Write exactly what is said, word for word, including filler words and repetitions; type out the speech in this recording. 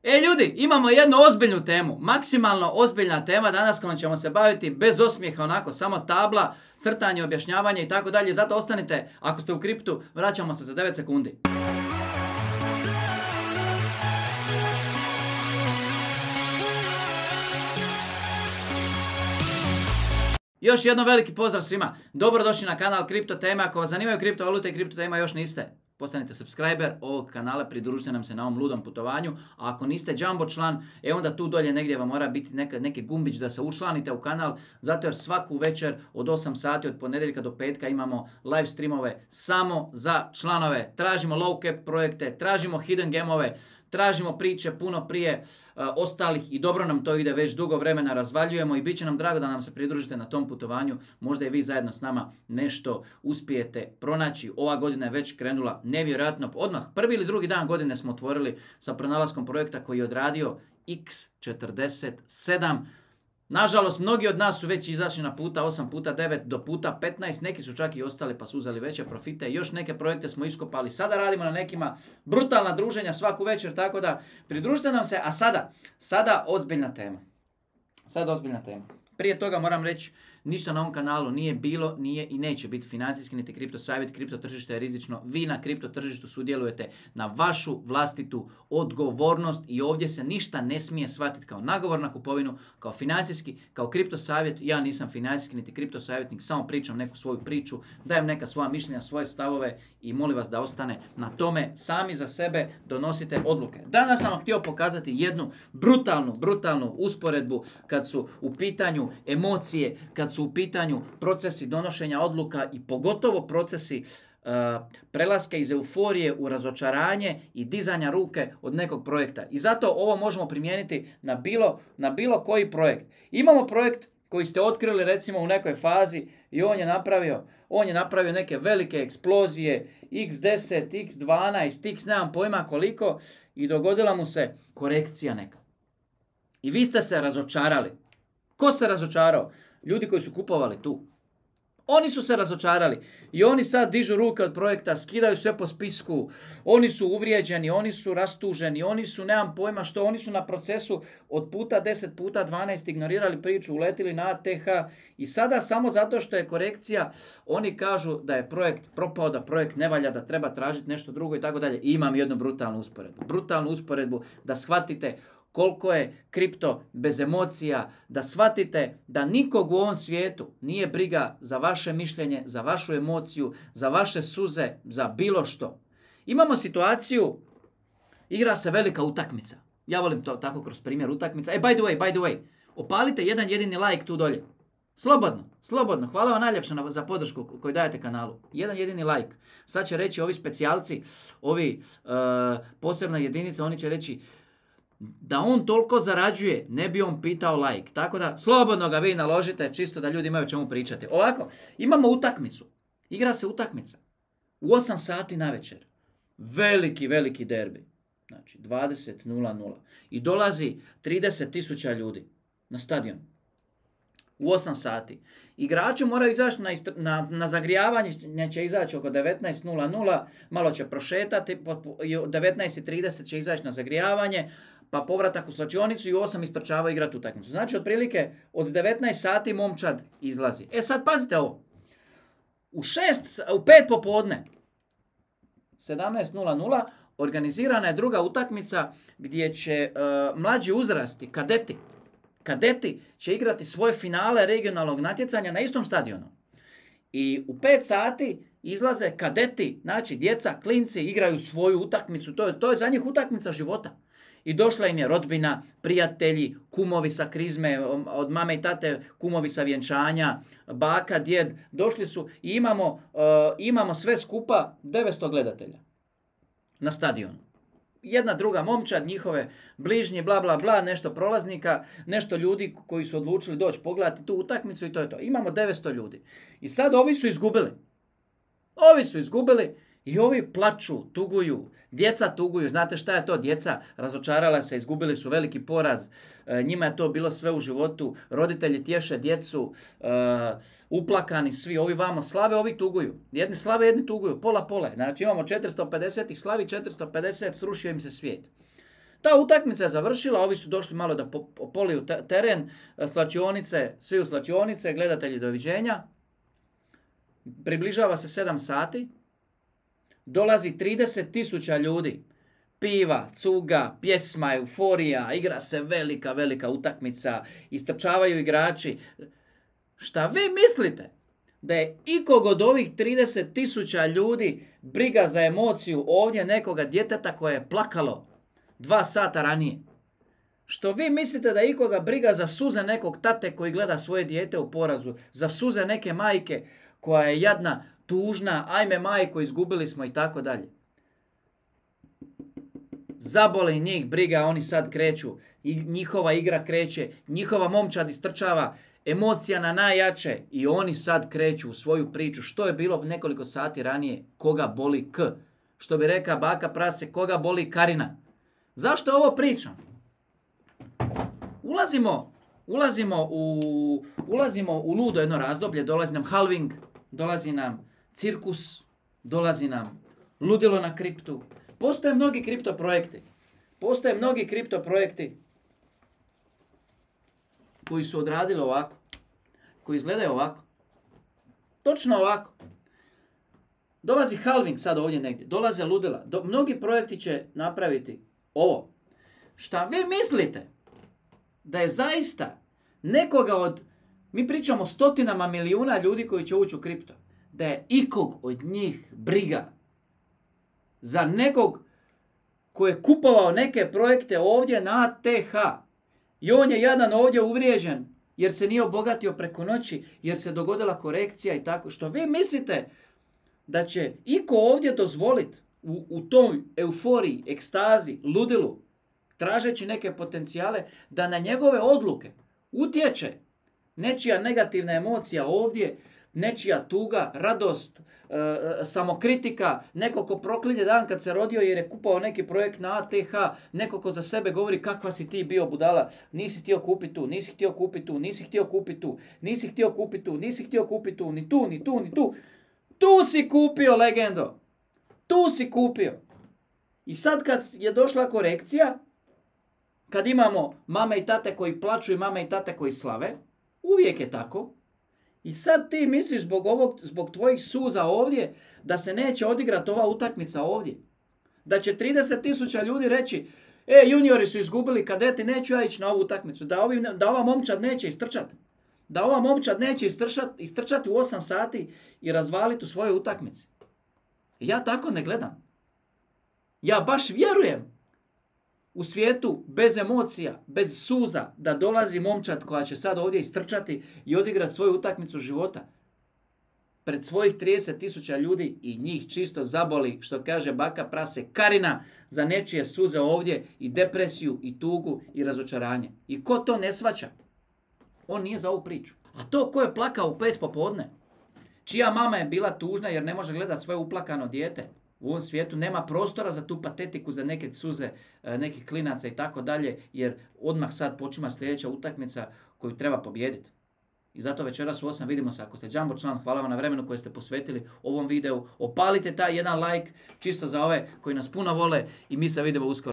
E ljudi, imamo jednu ozbiljnu temu, maksimalno ozbiljna tema danas kojom ćemo se baviti bez osmijeha, onako, samo tabla, crtanje, objašnjavanje i tako dalje. Zato ostanite, ako ste u kriptu, vraćamo se za devet sekundi. Još jedno veliki pozdrav svima. Dobrodošli na kanal Kripto Teme. Ako vas zanimaju kriptovalute i kripto tema još niste, postanite subscriber ovog kanala, pridružite nam se na ovom ludom putovanju. A ako niste Jumbo član, e onda tu dolje negdje vam mora biti neka, neki gumbić da se učlanite u kanal, zato jer svaku večer od osam sati od ponedjeljka do petka imamo live streamove samo za članove. Tražimo low cap projekte, tražimo hidden gemove, tražimo priče puno prije uh, ostalih i dobro nam to ide, već dugo vremena razvaljujemo i bit će nam drago da nam se pridružite na tom putovanju. Možda i vi zajedno s nama nešto uspijete pronaći. Ova godina je već krenula nevjerojatno. Odmah prvi ili drugi dan godine smo otvorili sa pronalaskom projekta koji je odradio iks četrdeset sedam. Nažalost, mnogi od nas su već izašli na puta osam puta devet do puta petnaest, neki su čak i ostali pa su uzeli veće profite, još neke projekte smo iskopali, sada radimo na nekima brutalna druženja svaku večer, tako da pridružite nam se, a sada, sada ozbiljna tema. Sada ozbiljna tema. Prije toga moram reći, ništa na ovom kanalu nije bilo, nije i neće biti financijski niti kripto savjet. Kripto tržište je rizično. Vi na kripto tržištu sudjelujete na vašu vlastitu odgovornost i ovdje se ništa ne smije shvatiti kao nagovor na kupovinu, kao financijski, kao kripto savjet. Ja nisam financijski niti kripto savjetnik, samo pričam neku svoju priču, dajem neka svoja mišljenja, svoje stavove i molim vas da ostane na tome. Sami za sebe donosite odluke. Danas sam vam htio pokazati jednu brutalnu, brutalnu usporedbu kad su u pitanju emocije, kad su u pitanju procesi donošenja odluka i pogotovo procesi uh, prelaska iz euforije u razočaranje i dizanja ruke od nekog projekta. I zato ovo možemo primijeniti na bilo, na bilo koji projekt. Imamo projekt koji ste otkrili recimo u nekoj fazi i on je napravio, on je napravio neke velike eksplozije, iks deset, iks dvanaest, iks nemam pojma koliko i dogodila mu se korekcija neka. I vi ste se razočarali. Ko se razočarao? Ljudi koji su kupovali tu. Oni su se razočarali i oni sad dižu ruke od projekta, skidaju sve po spisku, oni su uvrijeđeni, oni su rastuženi, oni su, nemam pojma što, oni su na procesu od puta deset, puta dvanaest ignorirali priču, uletili na A T H i sada samo zato što je korekcija, oni kažu da je projekt propao, da projekt ne valja, da treba tražiti nešto drugo i tako dalje. I imam jednu brutalnu usporedbu. Brutalnu usporedbu da shvatite koliko je kripto bez emocija, da shvatite da nikog u ovom svijetu nije briga za vaše mišljenje, za vašu emociju, za vaše suze, za bilo što. Imamo situaciju, igra se velika utakmica. Ja volim to tako kroz primjer utakmica. E, by the way, by the way, opalite jedan jedini like tu dolje. Slobodno, slobodno. Hvala vam najljepše za podršku koju dajete kanalu. Jedan jedini like. Sad će reći ovi specijalci, ovi uh, posebna jedinica, oni će reći da on toliko zarađuje, ne bi on pitao like. Tako da, slobodno ga vi naložite, čisto da ljudi imaju o čemu pričati. Ovako, imamo utakmicu. Igra se utakmica. U osam sati navečer. Veliki, veliki derbi. Znači, dvadeset nula nula. I dolazi trideset tisuća ljudi na stadion. U osam sati. Igrači moraju izaći na, na, na zagrijavanje, neće izaći oko devetnaest nula nula, malo će prošetati, devetnaest trideset će izaći na zagrijavanje, pa povratak u slačionicu i u osam istrčava igrati utakmicu. Znači, otprilike od devetnaest sati momčad izlazi. E sad, pazite ovo. U šest, u pet popodne, sedamnaest nula nula, organizirana je druga utakmica gdje će uh, mlađi uzrasti, kadeti, kadeti će igrati svoje finale regionalnog natjecanja na istom stadionu. I u pet sati izlaze kadeti, znači djeca, klinci, igraju svoju utakmicu. To je, to je za njih utakmica života. I došla im je rodbina, prijatelji, kumovi sa krizme, od mame i tate, kumovi sa vjenčanja, baka, djed. Došli su i imamo, uh, imamo sve skupa devetsto gledatelja na stadionu. Jedna druga momčad, njihove bližnji, bla, bla, bla, nešto prolaznika, nešto ljudi koji su odlučili doći pogledati tu utakmicu i to je to. Imamo devetsto ljudi. I sad ovi su izgubili. Ovi su izgubili i ovi plaču, tuguju, djeca tuguju. Znate šta je to? Djeca razočarala se, izgubili su veliki poraz. E, njima je to bilo sve u životu. Roditelji tješe djecu, e, uplakani svi. Ovi vamo slave, ovi tuguju. Jedni slave, jedni tuguju. Pola, pola. Znači imamo četiristo pedeset ih slavi, četiristo pedeset srušio im se svijet. Ta utakmica je završila, ovi su došli malo da poliju teren, slačionice, svi u slačionice, gledatelji doviđenja. Približava se sedam sati, dolazi trideset tisuća ljudi, piva, cuga, pjesma, euforija, igra se velika, velika utakmica, istrčavaju igrači. Šta vi mislite? Da je ikog od ovih trideset tisuća ljudi briga za emociju ovdje nekoga djeteta koje je plakalo dva sata ranije? Što vi mislite da je ikoga briga za suze nekog tate koji gleda svoje dijete u porazu, za suze neke majke koja je jadna, tužna, ajme majko, izgubili smo i tako dalje? Zaboli njih briga, oni sad kreću, i njihova igra kreće, njihova momčad istrčava, emocija na najjače i oni sad kreću u svoju priču. Što je bilo nekoliko sati ranije? Koga boli K? Što bi reka baka prase, koga boli Karina? Zašto ovo pričam? Ulazimo, ulazimo, u, ulazimo u ludo jedno razdoblje, dolazi nam halving, dolazi nam cirkus, dolazi nam ludilo na kriptu. Postoje mnogi kripto projekti. Postoje mnogi kripto projekti koji su odradili ovako, koji izgledaju ovako. Točno ovako. Dolazi halving sad ovdje negdje, dolaze ludila. Do, mnogi projekti će napraviti ovo. Šta vi mislite da je zaista nekoga od, mi pričamo stotinama milijuna ljudi koji će ući u kripto, da je ikog od njih briga za nekog koji je kupovao neke projekte ovdje na A T H i on je jadan ovdje uvrijeđen jer se nije obogatio preko noći, jer se dogodila korekcija i tako. Što vi mislite da će iko ovdje dozvoliti u, u toj euforiji, ekstazi, ludilu, tražeći neke potencijale, da na njegove odluke utječe nečija negativna emocija ovdje, nečija tuga, radost, e, samokritika, neko ko proklinje dan kad se rodio jer je kupao neki projekt na A T H, neko ko za sebe govori kakva si ti bio budala, nisi htio kupiti tu, nisi htio kupiti tu, nisi htio kupiti tu, nisi htio kupiti tu, nisi htio kupiti tu, ni tu, ni tu, ni tu. Tu si kupio, legendo. Tu si kupio. I sad kad je došla korekcija, kad imamo mame i tate koji plaču i mame i tate koji slave, uvijek je tako. I sad ti misliš zbog, ovog, zbog tvojih suza ovdje da se neće odigrati ova utakmica ovdje. Da će trideset tisuća ljudi reći, e, juniori su izgubili kadeti, neću ja ići na ovu utakmicu. Da, ovi, da ova momčad neće istrčati. Da ova momčad neće istrčati, istrčati u osam sati i razvaliti u svojoj utakmici. Ja tako ne gledam. Ja baš vjerujem u svijetu bez emocija, bez suza, da dolazi momčad koja će sad ovdje istrčati i odigrati svoju utakmicu života pred svojih trideset tisuća ljudi i njih čisto zaboli, što kaže baka prase Karina, za nečije suze ovdje i depresiju i tugu i razočaranje. I ko to ne shvaća, on nije za ovu priču. A to ko je plakao u pet popodne, čija mama je bila tužna jer ne može gledati svoje uplakano dijete, u ovom svijetu nema prostora za tu patetiku, za neke suze, nekih klinaca i tako dalje, jer odmah sad počima sljedeća utakmica koju treba pobijediti. I zato večeras u osam vidimo se. Ako ste Jumbo član, hvala vam na vremenu koje ste posvetili ovom videu. Opalite taj jedan like, čisto za ove koji nas puno vole i mi se vidimo uskoro.